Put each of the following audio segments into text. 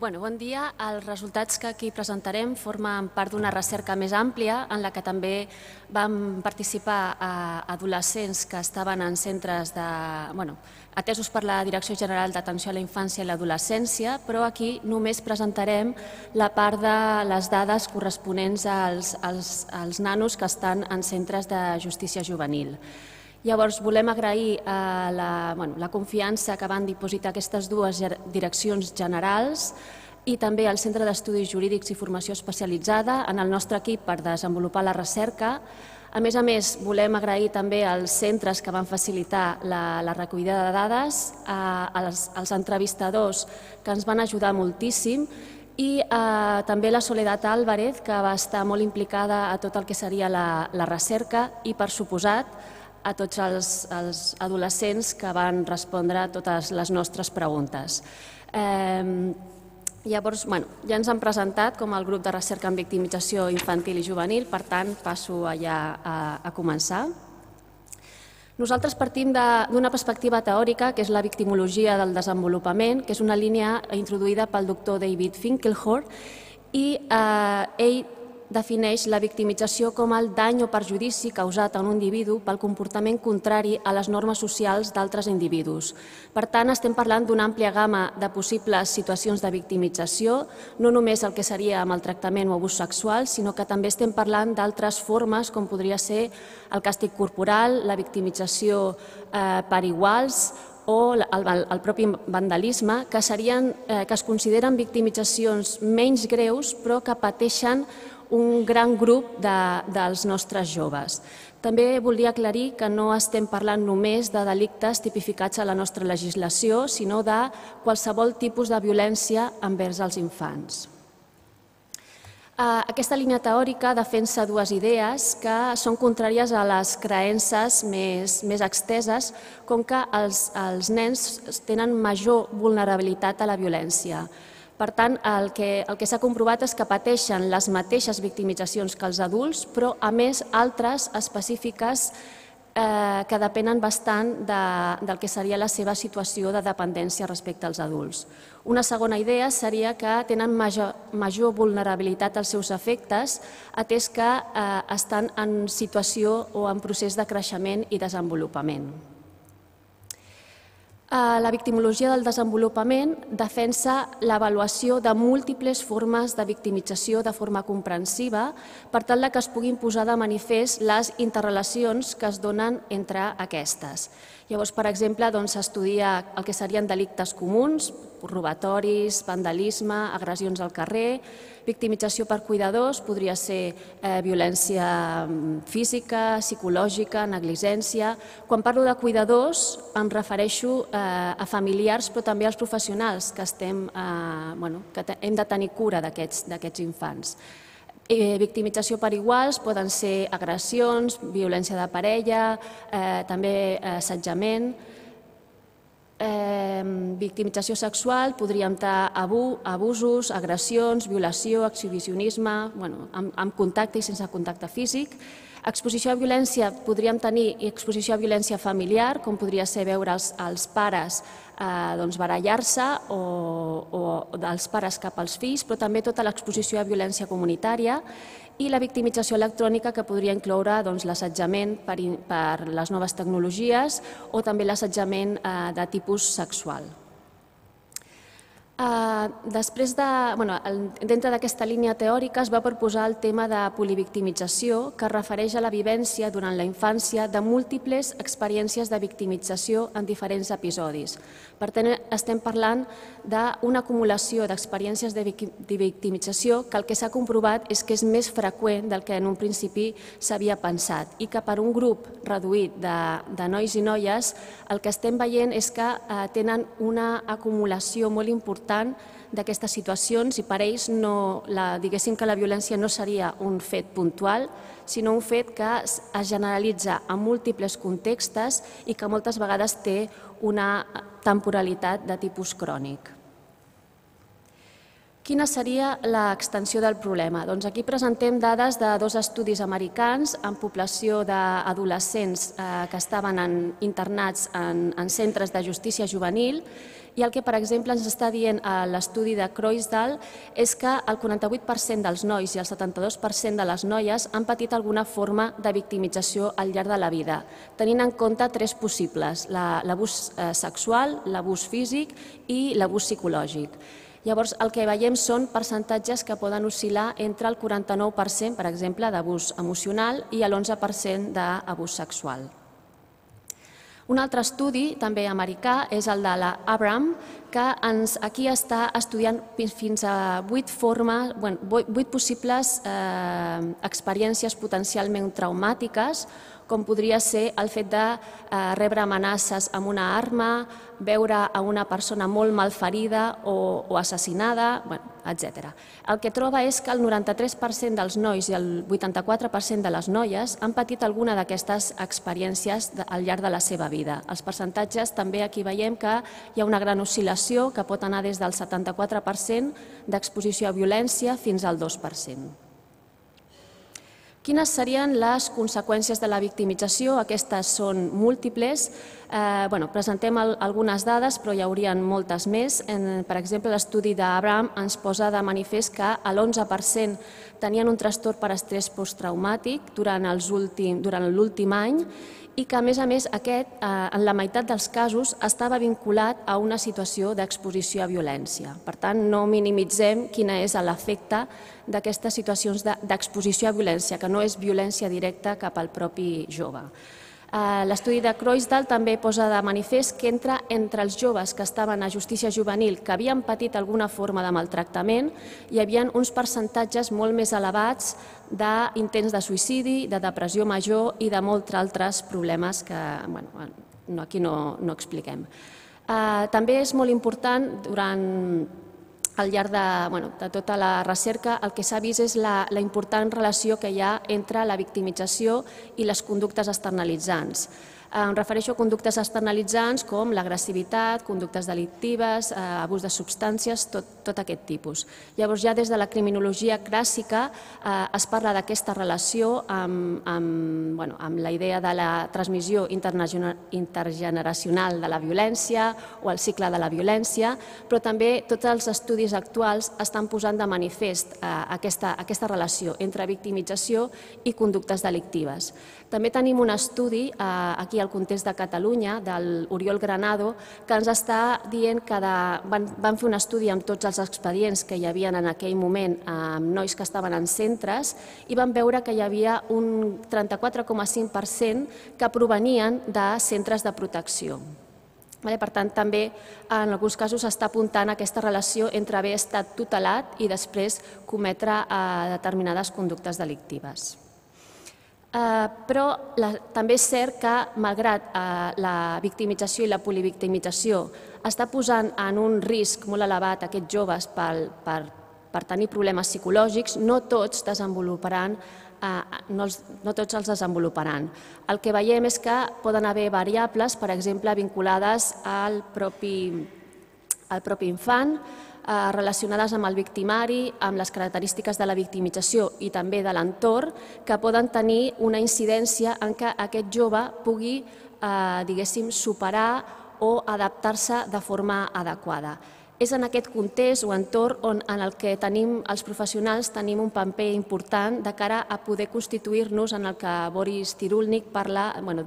Bon dia. Els resultats que aquí presentarem formen part d'una recerca més àmplia en la que també vam participar adolescents que estaven en centres atesos per la Direcció General d'Atenció a la Infància i l'Adolescència, però aquí només presentarem la part de les dades corresponents als nanos que estan en centres de justícia juvenil. Llavors, volem agrair la confiança que van dipositar aquestes dues direccions generals i també al Centre d'Estudis Jurídics i Formació Especialitzada en el nostre equip per desenvolupar la recerca. A més, volem agrair també als centres que van facilitar la recollida de dades, als entrevistadors que ens van ajudar moltíssim i també la Soledad Álvarez, que va estar molt implicada a tot el que seria la recerca i, per suposat, a tots els adolescents que van respondre a totes les nostres preguntes. Llavors, ja ens han presentat com el grup de recerca en victimització infantil i juvenil, per tant, passo allà a començar. Nosaltres partim d'una perspectiva teòrica, que és la victimologia del desenvolupament, que és una línia introduïda pel doctor David Finkelhor, i ell defineix la victimització com el dany o perjudici causat a un individu pel comportament contrari a les normes socials d'altres individus. Per tant, estem parlant d'una àmplia gamma de possibles situacions de victimització, no només el que seria maltractament o abús sexual, sinó que també estem parlant d'altres formes, com podria ser el càstig corporal, la victimització per iguals o el propi vandalisme, que es consideren victimitzacions menys greus però que pateixen un gran grup dels nostres joves. També voldria aclarir que no estem parlant només de delictes tipificats a la nostra legislació, sinó de qualsevol tipus de violència envers els infants. Aquesta línia teòrica defensa dues idees que són contràries a les creences més exteses, com que els nens tenen major vulnerabilitat a la violència. Per tant, el que s'ha comprovat és que pateixen les mateixes victimitzacions que els adults, però a més altres específiques que depenen bastant del que seria la seva situació de dependència respecte als adults. Una segona idea seria que tenen major vulnerabilitat als seus efectes, atès que estan en situació o en procés de creixement i desenvolupament. La victimologia del desenvolupament defensa l'avaluació de múltiples formes de victimització de forma comprensiva per tal que es puguin posar de manifest les interrelacions que es donen entre aquestes. Llavors, per exemple, s'estudia el que serien delictes comuns, robatoris, vandalisme, agressions al carrer, victimització per cuidadors, podria ser violència física, psicològica, negligència. Quan parlo de cuidadors em refereixo a familiars però també als professionals que hem de tenir cura d'aquests infants. Victimització per iguals poden ser agressions, violència de parella, també assetjament. Victimització sexual podríem tenir abusos, agressions, violació, exhibicionisme, amb contacte i sense contacte físic. Exposició a violència podríem tenir exposició a violència familiar, com podria ser veure els pares barallar-se o dels pares cap als fills, però també tota l'exposició a violència comunitària i la victimització electrònica, que podria incloure l'assetjament per les noves tecnologies o també l'assetjament de tipus sexual. Dintre d'aquesta línia teòrica es va proposar el tema de polivictimització, que es refereix a la vivència durant la infància de múltiples experiències de victimització en diferents episodis. Per tant, estem parlant d'una acumulació d'experiències de victimització que el que s'ha comprovat és que és més freqüent del que en un principi s'havia pensat i que per un grup reduït de nois i noies el que estem veient és que tenen una acumulació molt important d'aquestes situacions i per ells diguéssim que la violència no seria un fet puntual, sinó un fet que es generalitza en múltiples contextos i que moltes vegades té una temporalitat de tipus crònic. Quina seria l'extensió del problema? Doncs aquí presentem dades de 2 estudis americans en població d'adolescents que estaven internats en centres de justícia juvenil, i el que, per exemple, ens està dient l'estudi de Croisdall és que el 48% dels nois i el 72% de les noies han patit alguna forma de victimització al llarg de la vida, tenint en compte 3 possibles: l'abús sexual, l'abús físic i l'abús psicològic. Llavors, el que veiem són percentatges que poden oscil·lar entre el 49%, per exemple, d'abús emocional i l'11% d'abús sexual. Un altre estudi, també americà, és el de l'Abram, que aquí està estudiant fins a 8 possibles experiències potencialment traumàtiques, com podria ser el fet de rebre amenaces amb una arma, veure a una persona molt malferida o assassinada, etc. El que troba és que el 93% dels nois i el 84% de les noies han patit alguna d'aquestes experiències al llarg de la seva vida. Els percentatges també aquí veiem que hi ha una gran oscil·lació que pot anar des del 74% d'exposició a violència fins al 2%. Quines serien les conseqüències de la victimització? Aquestes són múltiples. Presentem algunes dades, però hi haurien moltes més. Per exemple, l'estudi d'Abraham ens posa de manifest que l'11% tenien un trastorn per estrès posttraumàtic durant l'últim any i que, a més, aquest, en la meitat dels casos, estava vinculat a una situació d'exposició a violència. Per tant, no minimitzem quin és l'efecte d'aquestes situacions d'exposició a violència, que no és violència directa cap al propi jove. L'estudi de Croisdall també posa de manifest que entre els joves que estaven a justícia juvenil que havien patit alguna forma de maltractament hi havia uns percentatges molt més elevats d'intents de suïcidi, de depressió major i de molts altres problemes que aquí no expliquem. També és molt important, al llarg de tota la recerca, el que s'ha vist és la important relació que hi ha entre la victimització i les conductes externalitzants. Em refereixo a conductes externalitzants com l'agressivitat, conductes delictives, abús de substàncies, tot aquest tipus. Llavors, ja des de la criminologia clàssica es parla d'aquesta relació amb la idea de la transmissió intergeneracional de la violència o el cicle de la violència, però també tots els estudis actuals estan posant de manifest aquesta relació entre victimització i conductes delictives. També tenim un estudi aquí al context de Catalunya, de l'Oriol Granado, que ens està dient que van fer un estudi amb tots els expedients que hi havia en aquell moment amb nois que estaven en centres i van veure que hi havia un 34,5% que provenien de centres de protecció. Per tant, també en alguns casos s'està apuntant aquesta relació entre haver estat tutelat i després cometre determinades conductes delictives. Però també és cert que, malgrat la victimització i la polivictimització està posant en un risc molt elevat aquests joves per tenir problemes psicològics, no tots els desenvoluparan. El que veiem és que poden haver variables, per exemple, vinculades al propi infant, relacionades amb el victimari, amb les característiques de la victimització i també de l'entorn, que poden tenir una incidència en què aquest jove pugui, diguéssim, superar o adaptar-se de forma adequada. És en aquest context o entorn en el que els professionals tenim un paper important de cara a poder constituir-nos en el que Boris Cyrulnik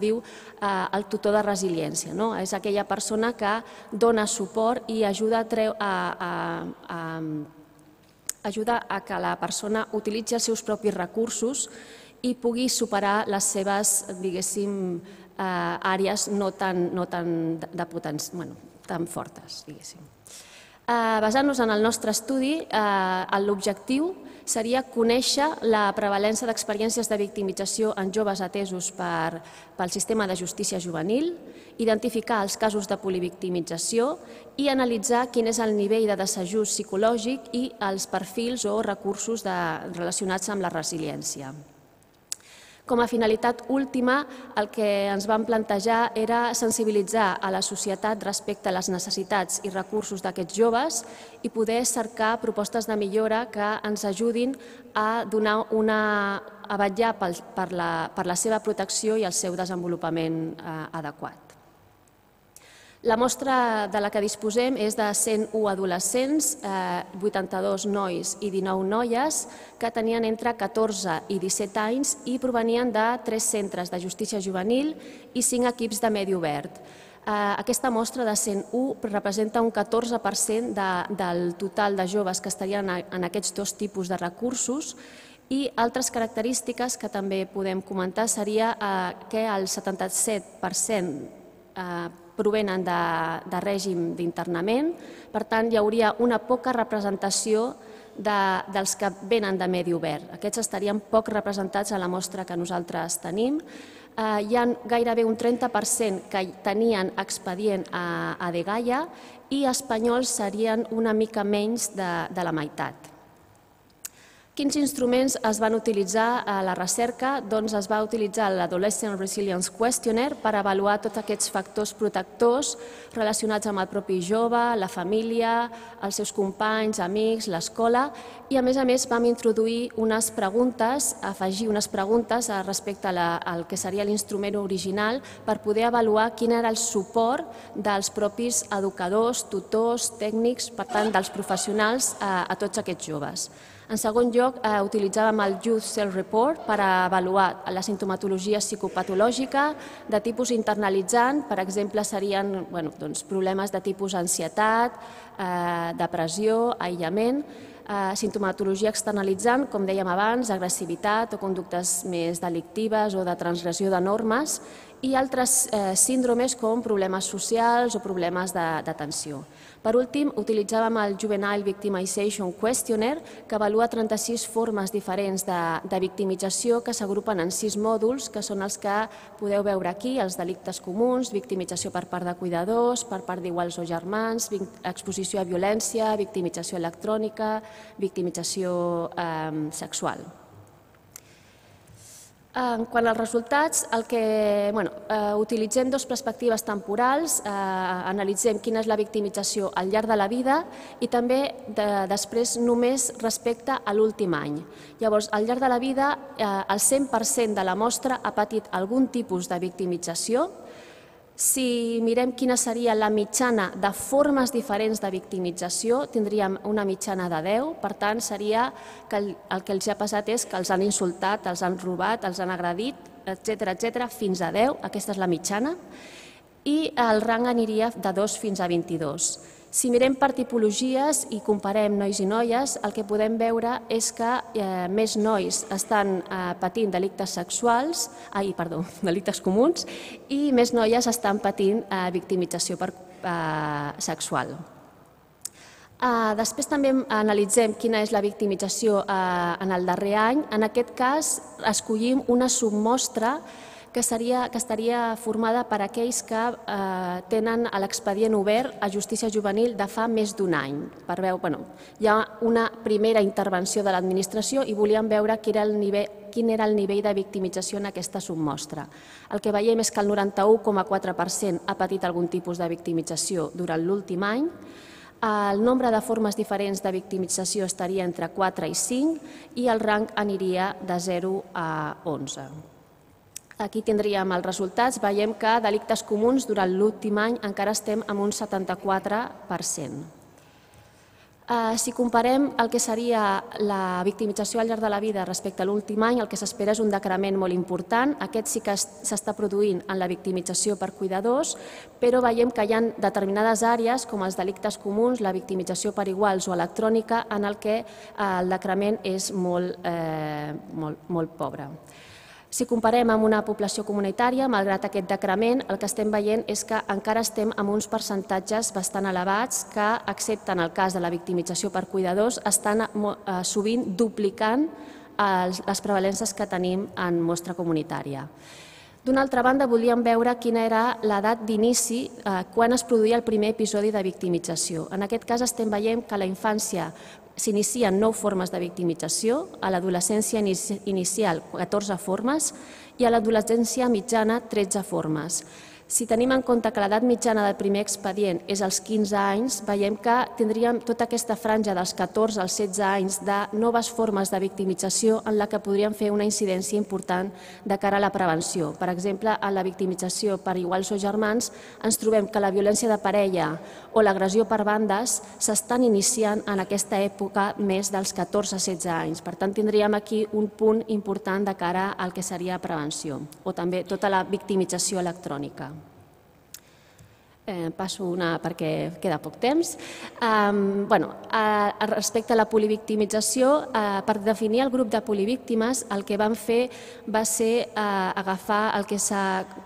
diu el tutor de resiliència. És aquella persona que dona suport i ajuda a que la persona utilitzi els seus propis recursos i pugui superar les seves, diguéssim, àrees no tan fortes, diguéssim. Basant-nos en el nostre estudi, l'objectiu seria conèixer la prevalença d'experiències de victimització en joves atesos pel sistema de justícia juvenil, identificar els casos de polivictimització i analitzar quin és el nivell de desajust psicològic i els perfils o recursos relacionats amb la resiliència. Com a finalitat última, el que ens vam plantejar era sensibilitzar a la societat respecte a les necessitats i recursos d'aquests joves i poder cercar propostes de millora que ens ajudin a vetllar per la seva protecció i el seu desenvolupament adequat. La mostra de la que disposem és de 101 adolescents, 82 nois i 19 noies, que tenien entre 14 i 17 anys i provenien de 3 centres de justícia juvenil i 5 equips de medi obert. Aquesta mostra de 101 representa un 14% del total de joves que estarien en aquests dos tipus de recursos i altres característiques que també podem comentar seria que el 77% provenen de règim d'internament, per tant hi hauria una poca representació dels que venen de medi obert. Aquests estarien poc representats a la mostra que nosaltres tenim. Hi ha gairebé un 30% que tenien expedient a dgaia i espanyols serien una mica menys de la meitat. Quins instruments es van utilitzar a la recerca? Doncs es va utilitzar l'Adolescent Resilience Questionnaire per avaluar tots aquests factors protectors relacionats amb el propi jove, la família, els seus companys, amics, l'escola i a més vam introduir unes preguntes, afegir unes preguntes respecte al que seria l'instrument original per poder avaluar quin era el suport dels propis educadors, tutors, tècnics, per tant dels professionals a tots aquests joves. En segon lloc, utilitzàvem el Youth Self-Report per avaluar la simptomatologia psicopatològica de tipus internalitzant. Per exemple, serien problemes de tipus ansietat, depressió, aïllament. Simptomatologia externalitzant, com dèiem abans, agressivitat o conductes més delictives o de transgressió de normes i altres síndromes com problemes socials o problemes d'atenció. Per últim, utilitzàvem el Juvenile Victimization Questionnaire, que avalua 36 formes diferents de victimització que s'agrupen en 6 mòduls, que són els que podeu veure aquí, els delictes comuns, victimització per part de cuidadors, per part d'iguals o germans, exposició a violència, victimització electrònica, victimització sexual. Quant als resultats, utilitzem dues perspectives temporals, analitzem quina és la victimització al llarg de la vida i també després només respecte a l'últim any. Llavors, al llarg de la vida, el 100% de la mostra ha patit algun tipus de victimització. Si mirem quina seria la mitjana de formes diferents de victimització, tindríem una mitjana de 10, per tant, seria que el que els ha passat és que els han insultat, els han robat, els han agredit, etc., fins a 10, aquesta és la mitjana, i el rang aniria de 2 fins a 22. Si mirem per tipologies i comparem nois i noies, el que podem veure és que més nois estan patint delictes comuns i més noies estan patint victimització sexual. Després també analitzem quina és la victimització en el darrer any. En aquest cas, escollim una submostra que estaria formada per aquells que tenen l'expedient obert a justícia juvenil de fa més d'un any. Hi ha una primera intervenció de l'administració i volíem veure quin era el nivell de victimització en aquesta submostra. El que veiem és que el 91,4% ha patit algun tipus de victimització durant l'últim any. El nombre de formes diferents de victimització estaria entre 4 i 5 i el rang aniria de 0 a 11. Aquí tindríem els resultats. Veiem que delictes comuns durant l'últim any encara estem amb un 74%. Si comparem el que seria la victimització al llarg de la vida respecte a l'últim any, el que s'espera és un decrement molt important. Aquest sí que s'està produint en la victimització per cuidadors, però veiem que hi ha determinades àrees, com els delictes comuns, la victimització per iguals o electrònica, en el que el decrement és molt pobre. Si comparem amb una població comunitària, malgrat aquest decrement, el que estem veient és que encara estem amb uns percentatges bastant elevats que, excepte en el cas de la victimització per cuidadors, estan sovint duplicant les prevalences que tenim en mostra comunitària. D'una altra banda, volíem veure quina era l'edat d'inici quan es produïa el primer episodi de victimització. En aquest cas estem veient que a la infància s'inicien 9 formes de victimització, a l'adolescència inicial 14 formes i a l'adolescència mitjana 13 formes. Si tenim en compte que l'edat mitjana del primer expedient és als 15 anys, veiem que tindríem tota aquesta franja dels 14 als 16 anys de noves formes de victimització en la que podríem fer una incidència important de cara a la prevenció. Per exemple, en la victimització per iguals o germans ens trobem que la violència de parella o l'agressió per bandes s'estan iniciant en aquesta època més dels 14 a 16 anys. Per tant, tindríem aquí un punt important de cara al que seria prevenció o també tota la victimització electrònica. Passo una perquè queda poc temps. Respecte a la polivictimització, per definir el grup de polivíctimes, el que vam fer va ser agafar el que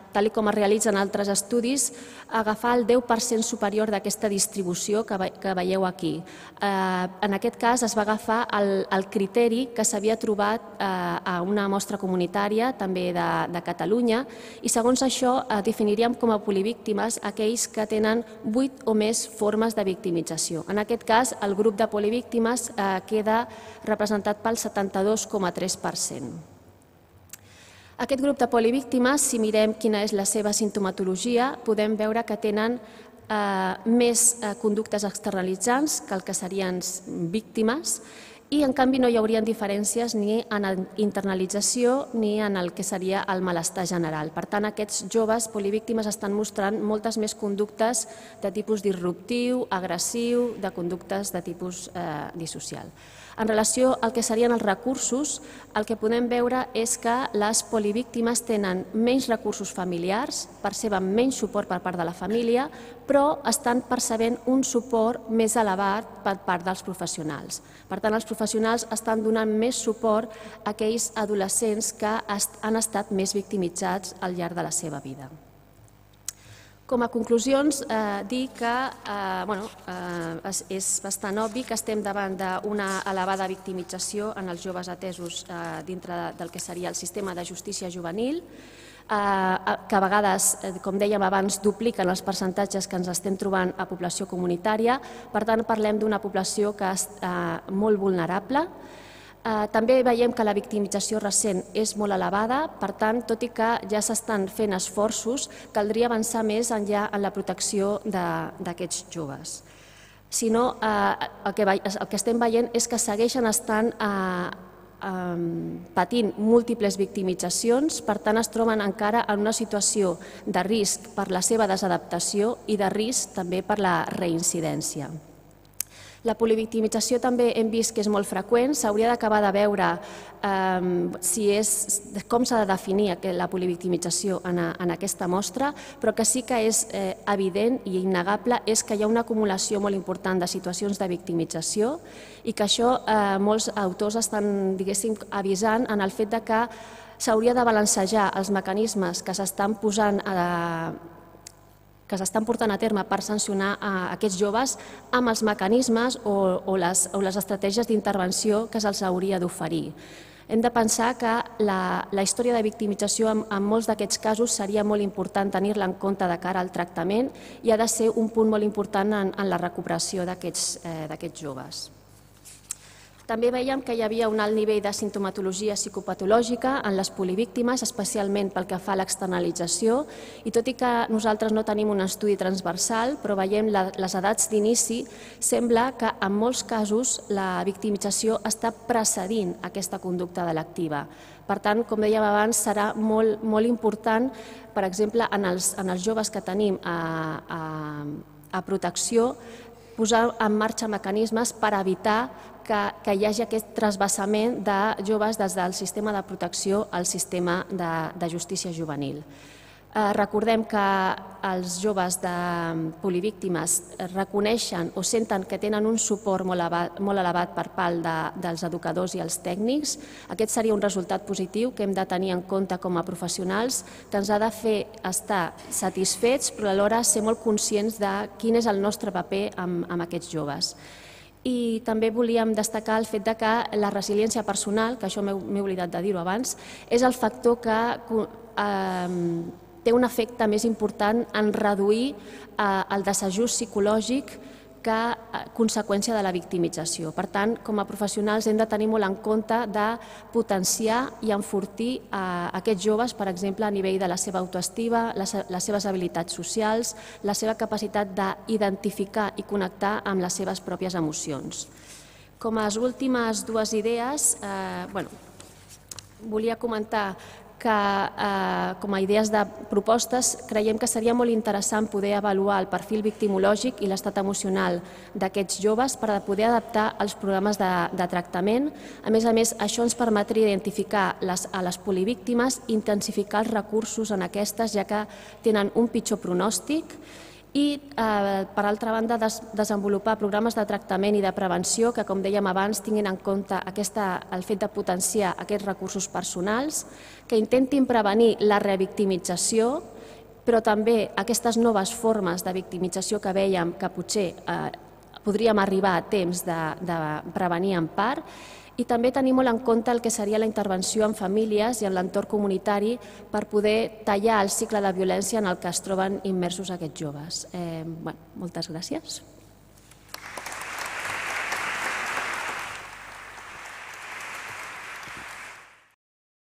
tal com es realitza en altres estudis, agafar el 10% superior d'aquesta distribució que veieu aquí. En aquest cas es va agafar el criteri que s'havia trobat a una mostra comunitària, també de Catalunya, i segons això definiríem com a polivíctimes aquells que tenen 8 o més formes de victimització. En aquest cas, el grup de polivíctimes queda representat pel 72,3%. Aquest grup de polivíctimes, si mirem quina és la seva sintomatologia, podem veure que tenen més conductes externalitzants que el que serien víctimes i, en canvi, no hi haurien diferències ni en la internalització ni en el que seria el malestar general. Per tant, aquests joves polivíctimes estan mostrant moltes més conductes de tipus disruptiu, agressiu, de conductes de tipus dissocial. En relació al que serien els recursos, el que podem veure és que les polivíctimes tenen menys recursos familiars, perceben menys suport per part de la família, però estan percebent un suport més elevat per part dels professionals. Per tant, els professionals estan donant més suport a aquells adolescents que han estat més victimitzats al llarg de la seva vida. Com a conclusions, dir que és bastant obvi que estem davant d'una elevada victimització en els joves atesos dintre del que seria el sistema de justícia juvenil, que a vegades, com dèiem abans, dupliquen els percentatges que ens estem trobant a població comunitària. Per tant, parlem d'una població que és molt vulnerable. També veiem que la victimització recent és molt elevada, per tant, tot i que ja s'estan fent esforços, caldria avançar més enllà en la protecció d'aquests joves. Si no, el que estem veient és que segueixen estant patint múltiples victimitzacions, per tant es troben encara en una situació de risc per la seva desadaptació i de risc també per la reincidència. La polivictimització també hem vist que és molt freqüent, s'hauria d'acabar de veure com s'ha de definir la polivictimització en aquesta mostra, però que sí que és evident i innegable és que hi ha una acumulació molt important de situacions de victimització i que això molts autors estan, diguéssim, avisant en el fet que s'hauria de balancejar els mecanismes que s'estan posant portant a terme per sancionar aquests joves amb els mecanismes o les estratègies d'intervenció que se'ls hauria d'oferir. Hem de pensar que la història de victimització en molts d'aquests casos seria molt important tenir-la en compte de cara al tractament i ha de ser un punt molt important en la recuperació d'aquests joves. També veiem que hi havia un alt nivell de sintomatologia psicopatològica en les polivíctimes, especialment pel que fa a l'externalització, i tot i que nosaltres no tenim un estudi transversal, però veiem les edats d'inici, sembla que en molts casos la victimització està precedint aquesta conducta delictiva. Per tant, com dèiem abans, serà molt important, per exemple, en els joves que tenim a protecció, posar en marxa mecanismes per evitar que hi hagi aquest trasbassament de joves des del sistema de protecció al sistema de justícia juvenil. Recordem que els joves de polivíctimes reconeixen o senten que tenen un suport molt elevat per part dels educadors i els tècnics. Aquest seria un resultat positiu que hem de tenir en compte com a professionals, que ens ha de fer estar satisfets, però alhora ser molt conscients de quin és el nostre paper amb aquests joves. I també volíem destacar el fet que la resiliència personal, que això m'he oblidat de dir-ho abans, és el factor que té un efecte més important en reduir el desajust psicològic que conseqüència de la victimització. Per tant, com a professionals hem de tenir molt en compte de potenciar i enfortir aquests joves, per exemple, a nivell de la seva autoestima, les seves habilitats socials, la seva capacitat d'identificar i connectar amb les seves pròpies emocions. Com a últimes dues idees, volia comentar que com a idees de propostes creiem que seria molt interessant poder avaluar el perfil victimològic i l'estat emocional d'aquests joves per poder adaptar els programes de tractament. A més, això ens permetria identificar a les polivíctimes, intensificar els recursos en aquestes, ja que tenen un pitjor pronòstic, i, per altra banda, desenvolupar programes de tractament i de prevenció que, com dèiem abans, tinguin en compte el fet de potenciar aquests recursos personals, que intentin prevenir la revictimització, però també aquestes noves formes de victimització que vèiem que potser podríem arribar a temps de prevenir en part, i també tenir molt en compte el que seria la intervenció en famílies i en l'entorn comunitari per poder tallar el cicle de violència en el que es troben immersos aquests joves. Moltes gràcies.